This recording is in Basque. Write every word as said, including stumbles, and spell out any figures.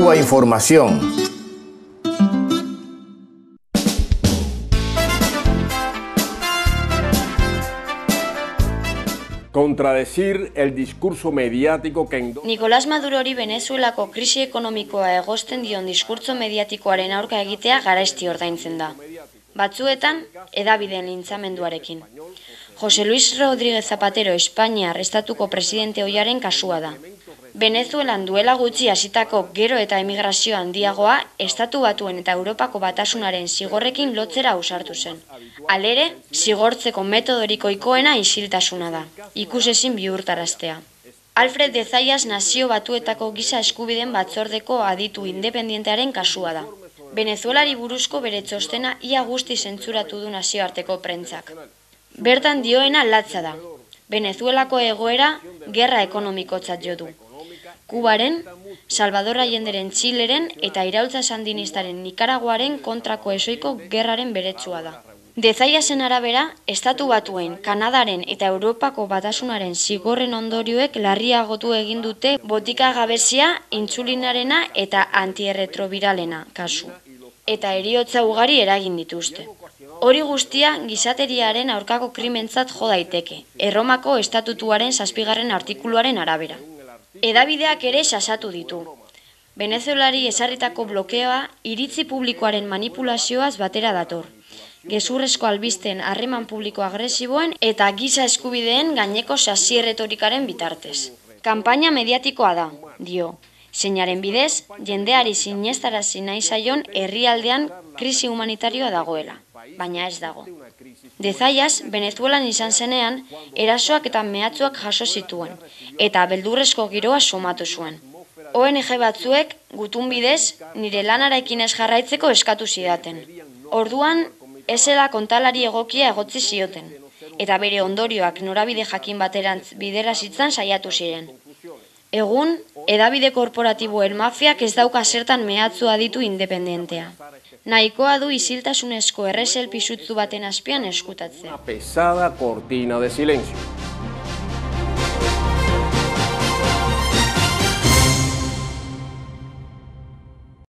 Cuba Información. Contradecir el discurso mediático que... Nicolás Madurori Venezuelako krisi ekonomikoa egosten dion diskurtso mediatikoaren aurka egitea garesti ordaintzen da. Batzuetan, hedabideen lintzamenduarekin. José Luis Rodríguez Zapatero Espainiar estatuko presidente ohiaren kasua da. Venezuelan duela gutxi hasitako gero eta emigrazio handiagoa estatu batuen eta Europako batasunaren zigorrekin lotzera ausartu zen. Halere, zigortzeko metodorik ohikoena isiltasuna da, ikusezin bihurtaraztea. Alfred de Zayas nazio batuetako giza eskubideen batzordeko aditu independientearen kasua da. Venezuelari buruzko bere txostena ia guzti zentzuratu du nazioarteko prentzak. Bertan dioena latza da. Venezuelako egoera gerra ekonomikotzat jo du. Kubaren, Salvador Allenderen Txileren eta iraultza sandinistaren Nikaraguaren kontrako esoiko gerraren beretsua da. De Zayasen arabera, estatu batuen, Kanadaren eta Europako batasunaren zigorren ondorioek larriagotu egin dute botika gabezia, intsulinarena eta antierretrobiralena kasu. Eta heriotza ugari eragin dituzte. Hori guztia gizateriaren aurkako krimentzat jo daiteke, Erromako estatutuaren zazpigarren artikuluaren arabera. Hedabideak ere sasatu ditu. Venezuelari ezarritako blokeoa iritzi publikoaren manipulazioaz batera dator. Gezurrezko albisten harreman publiko agresiboen eta giza eskubideen gaineko sasi-erretorikaren bitartez. Kanpaina mediatikoa da, dio. Zeinaren bidez, jendeari sinestarazi nahi zaion herrialdean krisi humanitarioa dagoela, baina ez dago. De Zayas, Venezuelan izan zenean, erasoak eta mehatzuak jaso zituen, eta beldurrezko giroa somatu zuen. O N G batzuek, gutun bidez, nire lanarekin ez jarraitzeko eskatu zidaten. Orduan, ezela kontalari egokia egotzi zioten, eta bere ondorioak norabide jakin baterantz bidera zitzan saiatu ziren. Egun, hedabide korporatiboen mafiak ez dauka zertan mehatzua ditu independentea. Nahikoa du isiltasunezko erresel pisutzu baten azpian eskutatzea. Una pesada cortina de silencio.